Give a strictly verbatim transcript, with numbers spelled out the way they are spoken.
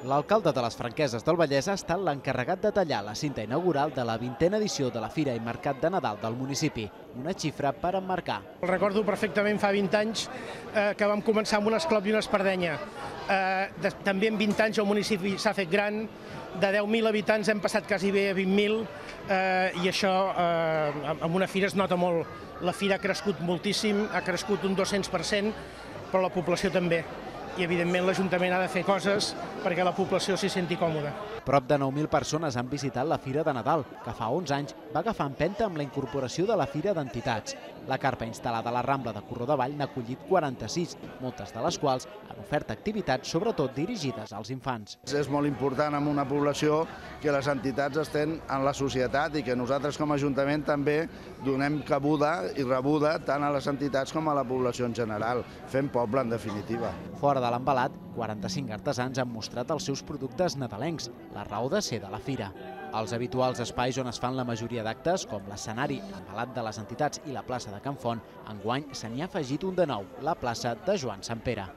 L'alcalde de les Franqueses del Vallès ha estat l'encarregat de tallar la cinta inaugural de la vintena edició de la Fira i Mercat de Nadal del municipi, una xifra per emmarcar. El recordo perfectament fa vint anys eh, que vam començar amb un esclop i una espardenya. Eh, de, també en vint anys el municipi s'ha fet gran, de deu mil habitants hem passat quasi bé a vint mil eh, i això eh, amb una fira es nota molt. La fira ha crescut moltíssim, ha crescut un dos-cents per cent, però la població també. I, evidentment, l'Ajuntament ha de fer coses perquè la població s'hi senti còmoda. Prop de nou mil persones han visitat la Fira de Nadal, que fa onze anys va agafar empenta amb la incorporació de la Fira d'Entitats. La carpa instal·lada a la Rambla de Corró de Vall n'ha acollit quaranta-sis, moltes de les quals han ofert activitats sobretot dirigides als infants. És molt important en una població que les entitats estén en la societat i que nosaltres com a Ajuntament també donem cabuda i rebuda tant a les entitats com a la població en general, fent poble en definitiva. Fora de l'embalat, quaranta-cinc artesans han mostrat els seus productes nadalencs, la raó de ser de la fira. Els habituals espais on es fan la majoria d'actes, com l'escenari, l'embalat de les entitats i la plaça de Can Font, enguany se n'hi ha afegit un de nou, la plaça de Joan Sant Pere.